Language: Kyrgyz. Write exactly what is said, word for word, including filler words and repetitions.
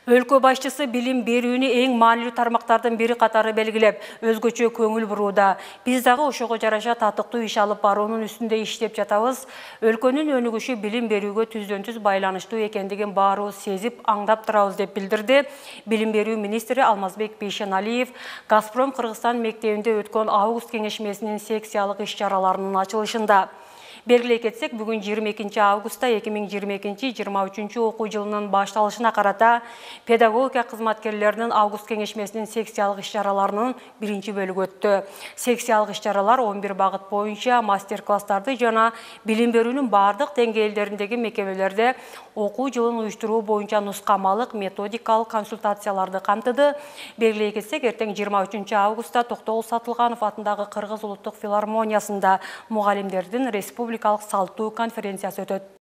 Өлкө башчысы билим берүүнү эң маанилүү тармактардын бири катары белгилеп, өзгөчө көңүл бурууда. Биз дагы ошого жараша татыктуу иш алып баруунун үстүндө иштеп жатабыз. Өлкөнүн өнүгүшү билим берүүгө түздөн-түз байланыштуу экендигин баарыбыз сезип, аңдап турабыз деп билдирди билим берүү министри Алмазбек Бейшеналиев Газпром Кыргызстан мектебинде өткөн август кеңешмесинин секциялык иш-чараларынын ачылышында. Белгилей кетсек, бүгүн жыйырма экинчи августта эки миң жыйырма экинчи жыйырма үчүнчү окуу жылынын башталышына карата педагогика кызматкерлеринин август кеңешмесинин секциялык иш-чараларынын биринчи бөлүгү өттү. Секциялык иш-чаралар он бир багыт боюнча мастер-класстарды жана билим берүүнүн бардык деңгээлдериндеги мекемелерде окуу жылын уюштуруу боюнча нускамалык методикалык консультацияларды камтыды. Белгилей кетсек, эртең жыйырма үчүнчү августта Токтогул Сатылганов атындагы Кыргыз улуттук филармониясында мугалимдердин республикалык салттуу конференциясы өтөт.